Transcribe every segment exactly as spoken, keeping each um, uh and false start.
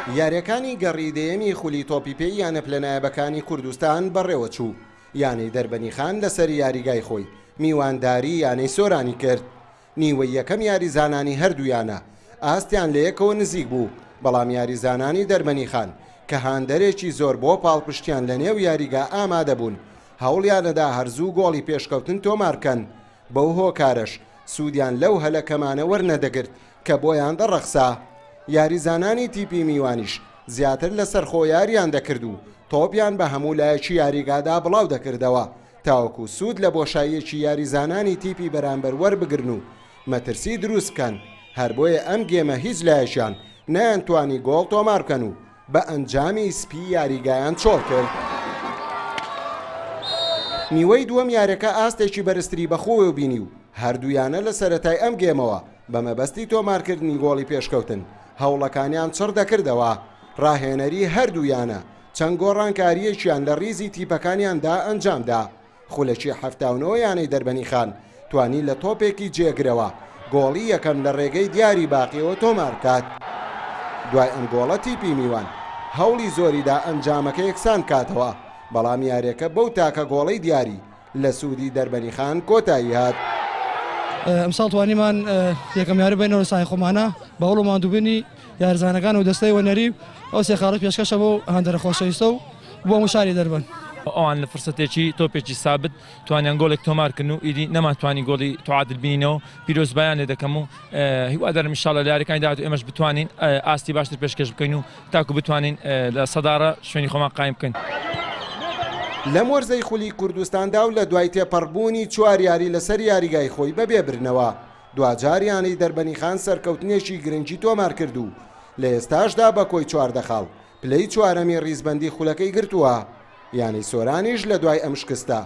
یاریەکانی گەڕی دەیەمی خولی تۆپی پێی یانە پلەنایەبەکانی کوردستان بەڕێوەچوو. یانەی دەربەنیخان لەسەر یاریگای خۆی میوانداری یانەی سۆرانی کرد. نیوەی یەکەم یاریزانانی هەردوو یانە ئاستیان لە یەکەوە نزیک بوو، بەڵام یاریزانانی دەربەنیخان کە هاندەرێکی زۆر بۆ پاڵپشتیان لە نێو یاریگا ئامادە بوون، هەوڵیانەدا هەرزوو گۆڵی پێشکەوتن تۆمار بکەن. بەو هۆکارەش سوودیان لەو هەلەکەمانە وەرنەدەگرت کە بۆیان دەڕەخسا. یاریزانانی تیپی میوانیش زیاتر لەسەر خۆ یاریان دەکرد و تۆپیان بە هەموو لایەکی یاریگادا بڵاو دەکردەوە تاوەکو سوود لە بۆشاییەکی یاریزانانی تیپی بەرامبەر وەربگرن و مەترسی دروست بکەن. هەر بۆیە ئەم گێمە هیچ لایەکیان نەیانتوانی گۆڵ تۆمار بکەن و بە ئەنجامی سپی یاریگایان چۆڵ کرد. نیوەی دووەم یاریەکە ئاستێکی بەرزتری بەخۆوە بینی و هەردوویانە لە سەرەتای ئەم گێمەوە بە مەبەستی تۆمارکردنی گۆڵی پێشکەوتن هەوڵەکانیان چڕ دەکردەوە. ڕاهێنەری هەردوویانە چەند گۆڕانکاریەکیان لە ریزی تیپەکانیاندا ئەنجامدا. خولەکی حەفتا و نۆ یانەی دەربەنیخان توانی لە تۆپێکی جێگرەوە گۆڵی یەکەم لە ڕێگەی دیاری باقیەوە تۆمار بکات. دوای ئەم گۆڵە تیپی میوان هەوڵی زۆریدا ئەنجامەکە یەکسان کاتەوە، بەڵام یاریەکە بەو تاکە گۆڵەی دیاری لە سوودی دەربەنیخان کۆتایی هات. ئەمساڵ توانیمان یەکەم یاری بینەوە سای خۆمانە بە هەوڵ و ماندووبوونی یاریزانەکان و دەستەی وەنەری ئەو سێ خاڵە پێشکەشە بۆ هاندەرە خۆشەویستە و بۆ هەموو شاری دەربەن. ئەوان لە فرسەتێکی تۆپێکی سابت توانیان گۆڵێک تۆمارکردن و ئیدی نەمانتوانی گۆڵی تعادل بینینەوە. پیرۆزبایان لێ دەکەم و هیوادارم ئینشاڵڵا لە یاریەکانی داهاتوو ئێمەش بتوانین ئاستی باشتر پێشکەش بکەین و تاکو بتوانین لە سەدارە شوێنی خۆمان قایم بکەین. لەم وەرزەی خولی کوردستاندا و لە دوای تێپەڕبوونی چوار یاری لەسەر یاریگای خۆی بەبێبرنەوە، دواجار یانەی دەربەنیخان سەرکەوتنێکی گرنگی تۆمار کرد و لە ئێستاشدا بە کۆی چواردە خاڵ پلەی چوارەمی ڕیزبەندی خولەکەی گرتووە. یانەی سۆرانیش لە دوای ئەم شکستە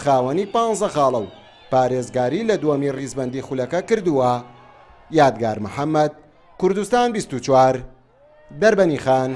خاوەنی پانزە خاڵە و پارێزگاری لە دووەمی ڕیزبەندی خولەکە کردووە. یادگار محەممەد، کوردستان بیست و چوار، دەربەنیخان.